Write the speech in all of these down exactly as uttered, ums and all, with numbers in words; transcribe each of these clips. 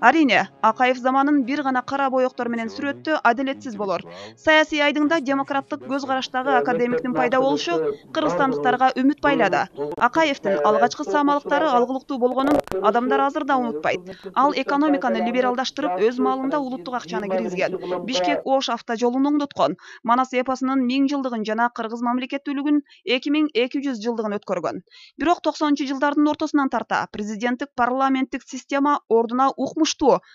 Арине, Акаев заманын бир гана кара боектор менен сүрөттө адилетсиз болор. Саясий айдыңда демократтык көз караштагы академиктин пайда болушу кыргызстандыктарга үмүт байлады. Акаевдин алгачкы саамалыктары алгылыктуу болгонун адамдар азыр да унутпайт. Ал экономиканы либералдаштырып, өз маалында улуттук акчаны киргизген. Бишкек-Ош автожолун оңдоткон. Манас эпосунун миң жылдыгын жана кыргыз мамлекеттүүлүгүнүн эки миң эки жүз жылдыгын өткөргөн. Бирок токсонунчу жылдардын ортосунан тарта президенттик парламенттик система ордуна укмуш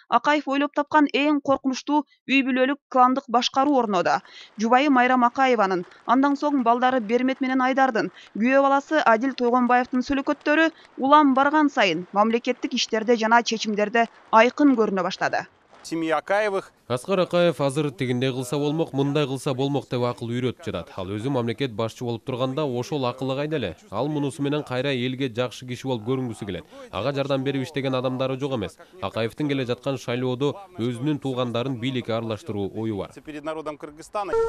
Акаев ойлоп тапкан эң коркунучтуу үй бүлөлүк кландык башкаруу орноодо. Жубайы Майрам Акаеванын, андан соң балдары Бермет менен Айдардын, күйөө баласы Адил Тойгонбаевдин сүлөкөттөрү улам барган сайын мамлекеттик иштерде жана чечимдерде айкын көрүнө баштады. Семья Акаевых. Аскар Акаев азыр тигиндей кылса болмок, мындай кылса болмок деп акыл үйрөтүп жатат. Ал өзү мамлекет башчы болуп турганда ошол акылы кайда эле? Ал мунусу менен кайра элге жакшы киши болуп көрүнгүсү келет. Ага жардам берип иштеген адамдары жок эмес. Акаевдин келе жаткан шайлоодо өзүнүн туугандарын бийликке аралаштыруу ою бар.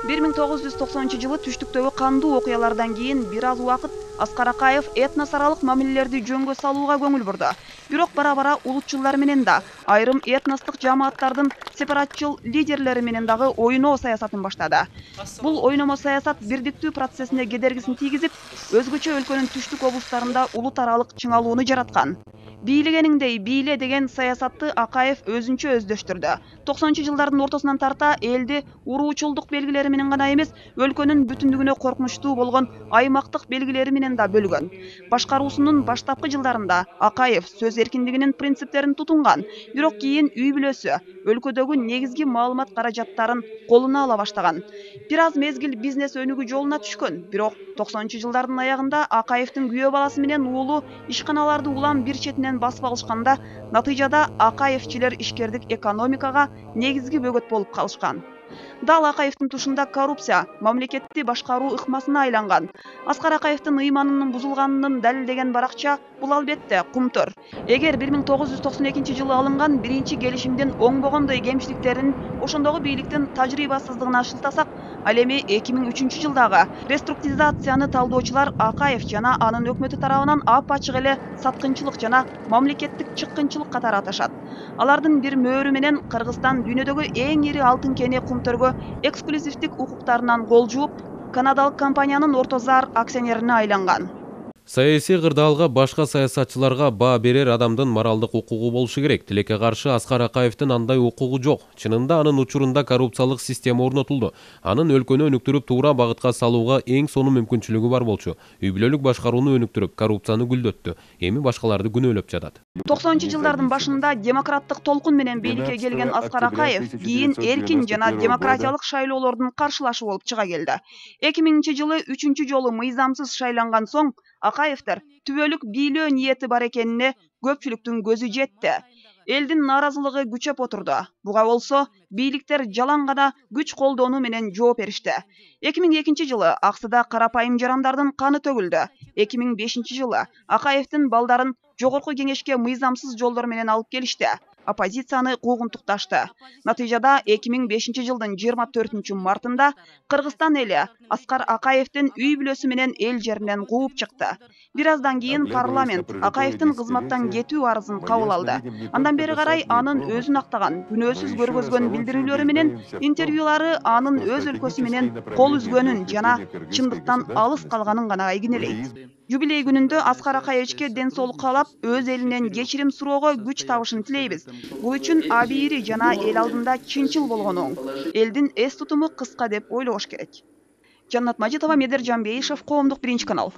бир миң тогуз жүз токсонунчу жылы түштүктөгү кандуу окуялардан кийин бир аз убакыт Аскар Акаев этнос аралык мамилелерди жөнгө салууга көңүл бурду. Бирок бара-бара улутчулдар менен да, айрым этностук жамааттардын сепаратчыл лидерлери менен дагы ойноо саясатын баштады. Бул ойномо саясат бирдиктүү процессине кедергисин тийгизип, өзгөчө өлкөнүн түштүк облустарында улут аралык чыңалууну жараткан. Бийлегениңдей бийле деген саясатты Акаев өзүнчө өздөштүрдү. токсонунчу жылдардын ортосунан тарта элди уруучулдук белгилери менен гана эмес, өлкөнүн бүтүндүгүнө коркунучтуу болгон аймактык белгилери менен да бөлгөн. Башкаруусунун баштапкы жылдарында Акаев сөз эркиндигинин принциптерин тутунган, бирок кийин үй бүлөсү өлкөдөгү негизги маалымат каражаттарын колуна ала баштаган. Бир аз мезгил бизнес өнүгүү жолуна түшкөн, бирок токсонунчу жылдардын аягында Акаевдин күйөө баласы менен уулу ишканаларды улам бир четинен басып алышканда, натыйжада Акаевчилер ишкердик экономикага негизги бөгөт болуп калышкан. Дал Акаевдин тушунда коррупция мамлекетти башкаруу ыкмасына айланган. Аскар Акаевдин ыйманынын бузулганын далилдеген баракча бул албетте Кумтөр. Эгер бир миң тогуз жүз токсон экинчи жылы алынган биринчи келишимдин оңбогондой кемчиликтерин ошондогу бийликтин тажрыйбасыздыгына шылтасак, ал эми эки миң үчүнчү жылдагы реструктуризацияны талдоочулар Акаев жана анын өкмөтү тарабынан ап-ачык эле саткынчылык жана мамлекеттик чыккынчылык катары аташат. Алардын бир мөөрү менен Кыргызстан дүйнөдөгү эң ири алтын кени Кумтөргө эксклюзивдик укуктарынан кол жууп, канадалык компаниянын Ортозар акционерине айланган. Саясий кырдаалга башка саясатчыларга баа берер адамдын моралдык укугу болушу керек. Тилекке каршы Аскар Акаевдин андай укугу жок. Чынында анын учурунда коррупциялык система орнотулду. Анын өлкөнү өнүктүрүп туура багытка салууга эң сонун мүмкүнчүлүгү бар болчу. Үй бүлөлүк башкарууну өнүктүрүп, коррупцияны күлдөттү. Эми башкаларды күнөөлөп жатат. токсонунчу жылдардын башында демократтык толкун менен бийликке келген Аскар Акаев кийин эркин жана демократиялык шайлоолордун каршылашы болуп чыга келди. эки миңинчи жылы үчүнчү жолу мыйзамсыз шайланган соң Акаевдер түбөлүк бийлөө ниети бар экенине көпчүлүктүн көзү жетти. Элдин нааразылыгы күчөп отурду. Буга болсо бийликтер жалаң гана күч колдонуу менен жооп беришти. эки миң экинчи жылы Аксыда карапайым жарандардын каны төгүлдү. эки миң бешинчи жылы Акаевдин балдарын жогорку кеңешке мыйзамсыз жолдор менен алып келишти. Оппозицияны куугунтукташты. Натыйжада эки миң бешинчи жылдын жыйырма төртүнчү мартында Кыргызстан эли Аскар Акаевдин үй бүлөсү менен эл жеринен кууп чыкты. Бир аздан кийин парламент Акаевдин кызматтан кетүү арызын кабыл алды. Андан бери карай анын өзүн актаган, күнөөсүз көргөзгөн билдирүүлөрү менен интервьюлары анын өз өлкөсү менен кол үзгөнүн жана чындыктан алыс калганын гана айгинелейт. Юбилей күнүндө Аскар Акаевичке ден соолук каалап, өз элинен кечирим суроого күч табышын тилейбиз. Бул үчүн абийири жана эл алдында чынчыл болгону оң. Элдин эс тутуму кыска деп ойлош керек. Жаннат Мажитова, Медер Жамбейшев, Коомдук биринчи канал.